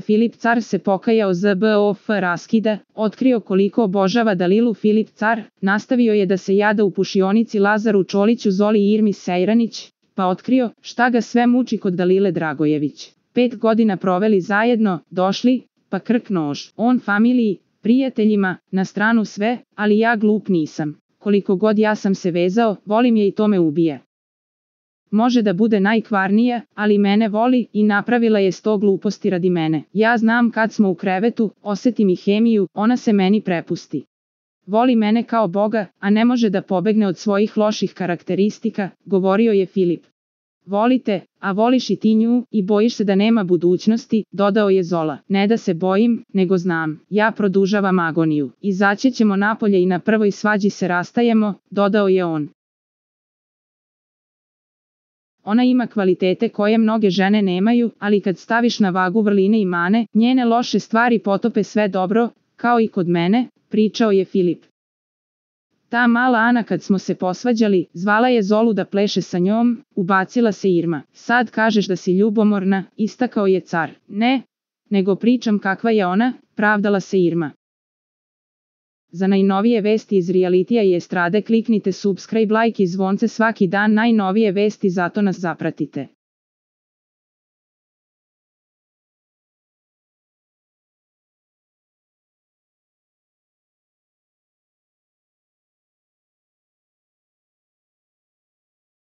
Filip Car se pokajao ZBOF raskida, otkrio koliko obožava Dalilu. Filip Car nastavio je da se jada u pušionici Lazaru Čoliću, Zoli i Irmi Sejranić, pa otkrio šta ga sve muči kod Dalile Dragojević. 5 godina proveli zajedno, došli, pa krk nož. On familiji, prijateljima, na stranu sve, ali ja glup nisam. Koliko god ja sam se vezao, volim je i to me ubije. Može da bude najkvarnija, ali mene voli i napravila je 100 gluposti radi mene. Ja znam kad smo u krevetu, osetim i hemiju, ona se meni prepusti. Voli mene kao Boga, a ne može da pobegne od svojih loših karakteristika, govorio je Filip. Volite, a voliš i ti nju, i bojiš se da nema budućnosti, dodao je Zola. Ne da se bojim, nego znam, ja produžavam agoniju. Izaći ćemo napolje i na prvoj svađi se rastajemo, dodao je on. Ona ima kvalitete koje mnoge žene nemaju, ali kad staviš na vagu vrline i mane, njene loše stvari potope sve dobro, kao i kod mene, pričao je Filip. Ta mala Ana kad smo se posvađali, zvala je Zolu da pleše sa njom, ubacila se Irma. Sad kažeš da si ljubomorna, istakao je Car. Ne, nego pričam kakva je ona, pravdala se Irma. Za najnovije vesti iz realitija i estrade kliknite subscribe, like i zvonce svaki dan, najnovije vesti, zato nas zapratite.